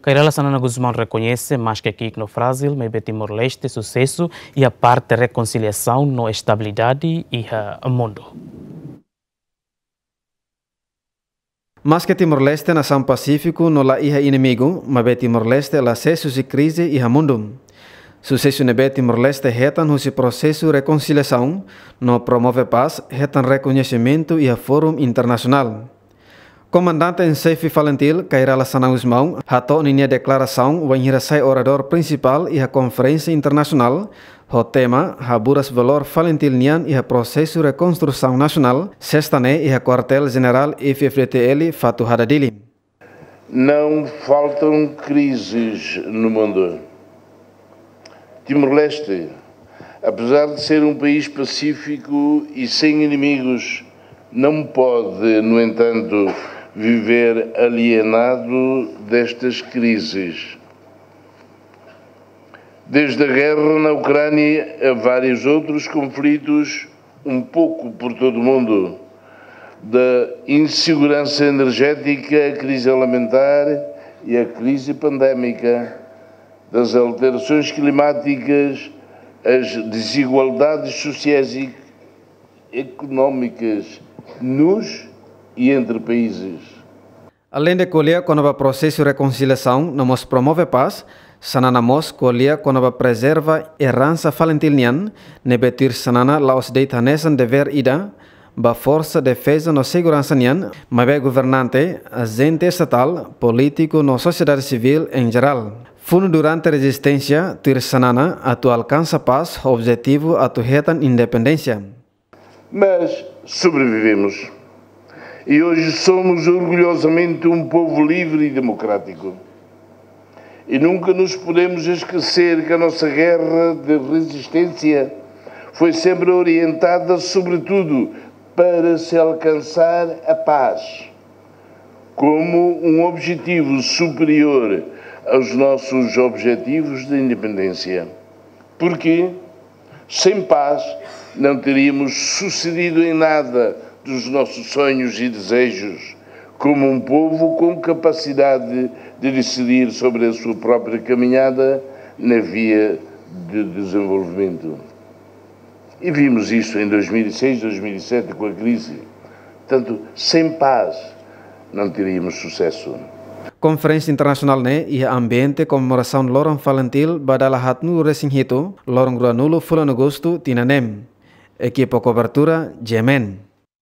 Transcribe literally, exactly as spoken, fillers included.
Kay Rala Xanana Gusmão rekoñese, maske ki'ik no frájil, maibé Timor-Leste susesu iha parte rekonsiliasaun no estabilidade iha mundu. Maske Timor-Leste nasaun pasífiku no la iha inimigu, maibé Timor-Leste la sees husi krize iha mundu. Susesu ne'ebé Timor-Leste hetan husi prosesu rekonsiliasaun no promove pás hetan rekoñesimentu iha fórum internasionál. Komandante-en-Xefe Falintil, Kay Rala Xanana Gusmão, hato'o ninia deklarasaun wainhira sai oradór prinsipál iha konferénsia internasionál ho tema Haburas Valór Falintil nian iha Prosesu Rekonstrusaun Nasionál, Sesta ne'e iha Kuartél Jenerál F-FDTL, Fatuhada, Dili. Não faltam crises no mundo. Timor-Leste, apesar de ser um país pacífico e sem inimigos, não pode, no entanto, viver alienado destas crises. Desde a guerra na Ucrânia a vários outros conflitos, um pouco por todo o mundo, da insegurança energética à crise alimentar e à crise pandémica, das alterações climáticas às desigualdades sociais e económicas nos e entre países. Aleinde ko'alia kona-ba prosesu rekonsiliasaun no mós promove pás, Xanana mós ko'alia kona-ba prezerva eransa Falintil nian, ne'ebé tuir Xanana la'ós de'it hanesan devér ida ba forsa defeza no seguransa nian, maibé governante, ajente estatál, polítiku no sosiedade sivíl en jerál. Funu durante rezisténsia, tuir Xanana, atu alkansa pás ho objetivu atu hetan independénsia. Mas sobrevivemos. E hoje somos orgulhosamente um povo livre e democrático. E nunca nos podemos esquecer que a nossa guerra de resistência foi sempre orientada, sobretudo, para se alcançar a paz, como um objetivo superior aos nossos objetivos de independência. Porque sem paz, não teríamos sucedido em nada dos nossos sonhos e desejos, como um povo com capacidade de decidir sobre a sua própria caminhada na via de desenvolvimento. E vimos isso em dois mil e seis, dois mil e sete, com a crise. Portanto, sem paz, não teríamos sucesso. Konferénsia internasionál ne'e iha ambiente komemorasaun Loron Falintil ba dala haatnulu-resin-hitu, loron ruanulu fulan Agostu tinan ne'e. Ekipa kobertura, G M N.